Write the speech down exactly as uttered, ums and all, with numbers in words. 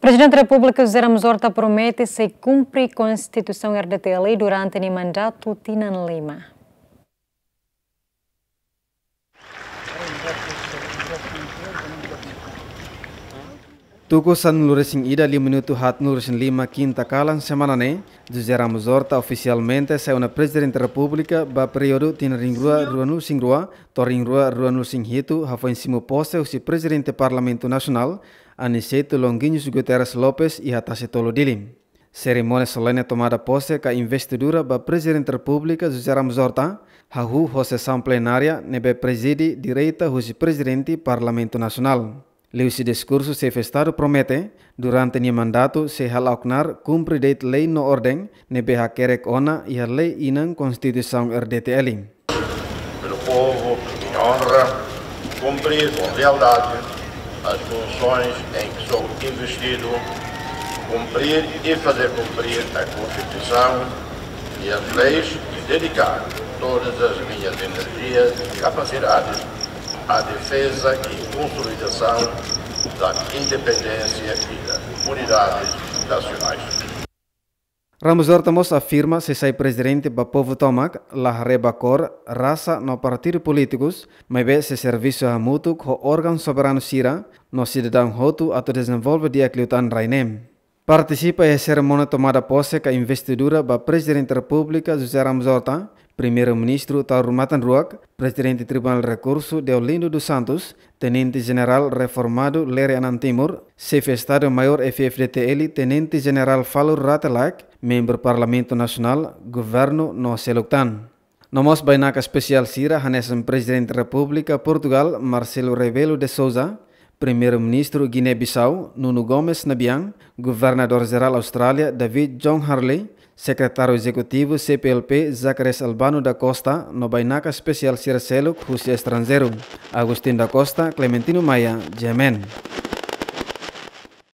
Prezidente Repúblika José Ramos Horta promete sei kumpre Konstituisaun R D T L durante nia mandatu tinan lima. Tuku sanulu-resin-ida liu minutu haatnulu-resin-lima kinta kalan semana ne'e, José Ramos Horta ofisialmente sai ona Prezidente Repúblika ba períodu tinan rihun rua ruanulu-resin-rua to'o rihun rua ruanulu-resin-hitu, hafoin simu pose husi Prezidente Parlamentu Nasionál, Aniceto Longuinhos Guterres Lopes, iha Tasi Tolu, Dili. Serimónia solene tomada pose ka investidura ba Prezidente Repúblika José Ramos Horta hahú ho sesaun plenária ne'ebé prezide direta husi Prezidente Parlamentu Nasionál. Liuhusi diskursu, Xefe Estadu promete, durante nia mandatu sei hala'o knaar kumpre de'it lei no orden ne'ebé hakerek ona iha lei inan Konstituisaun R D T L. Pelo povo que me honra, cumprir com lealdade as funções em que sou investido, cumprir e fazer cumprir a Constituição e as leis e dedicar todas as minhas energias e capacidades à defesa e consolidação da independência e das unidades nacionais. Ramos Horta mós afirma sei sai prezidente ba povu tomak, la haree ba kór, rasa no partidu polítikus, maibé sei servisu hamutuk ho órgaun soberanu sira no sidadaun hotu atu dezenvolve di'ak liután rai ne'e. Partisipa iha serimónia tomada pose ka investidura ba Prezidente Repúblika José Ramos Horta, Primeiru-Ministru Taur Matan Ruak, Prezidente Tribunál Rekursu Deolindo dos Santos, Tenente Jenerál reformadu Lere Anan Timur, Xefe Estadu Maiór F-FDTL Tenente Jenerál Falur Rate Laek, membru Parlamentu Nasionál, governu no seluk tan. No mós bainaka espesiál sira hanesan Prezidente Repúblika Portugál Marcelo Rebelo de Sousa, Primeiru-Ministru Guiné-Bissau Nuno Gomes Nabian, Governadór Jerál Austrália David John Harley, Sekretáriu Ezekutivu C P L P Zacarias Albano da Costa, no bainaka espesiál sira seluk husi estranjeiru, Agostinho da Costa, Clementino Maia, G M N.